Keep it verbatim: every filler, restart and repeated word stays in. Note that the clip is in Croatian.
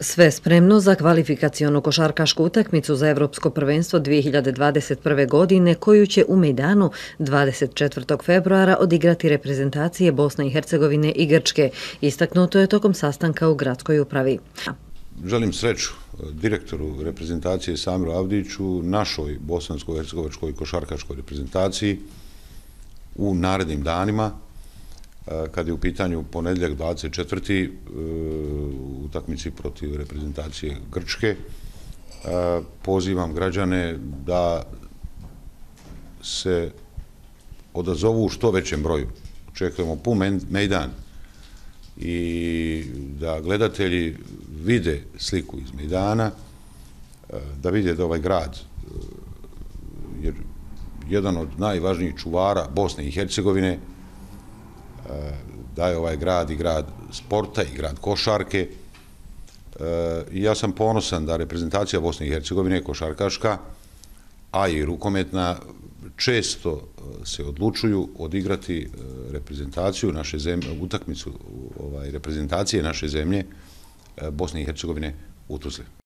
Sve spremno za kvalifikacionu košarkašku utakmicu za Evropsko prvenstvo dvije hiljade dvadeset prve. godine, koju će u Mejdanu dvadeset četvrtog februara odigrati reprezentacije Bosne i Hercegovine i Grčke, istaknuto je tokom sastanka u gradskoj upravi. Želim sreću direktoru reprezentacije Samiru Avdiću, našoj bosansko-hercegovačkoj košarkaškoj reprezentaciji u narednim danima, kad je u pitanju ponedjeljak dvadeset četvrti u utakmici protiv reprezentacije Grčke. Pozivam građane da se odazovu u što većem broju. Očekujemo pun mejdan i da gledatelji vide sliku iz mejdana, da vide da ovaj grad je jedan od najvažnijih čuvara Bosne i Hercegovine, da je ovaj grad i grad sporta i grad košarke. I ja sam ponosan da reprezentacija Bosne i Hercegovine, košarkaška, a i rukometna, često se odlučuju odigrati reprezentaciju naše zemlje, utakmicu reprezentacije naše zemlje Bosne i Hercegovine u Tuzli.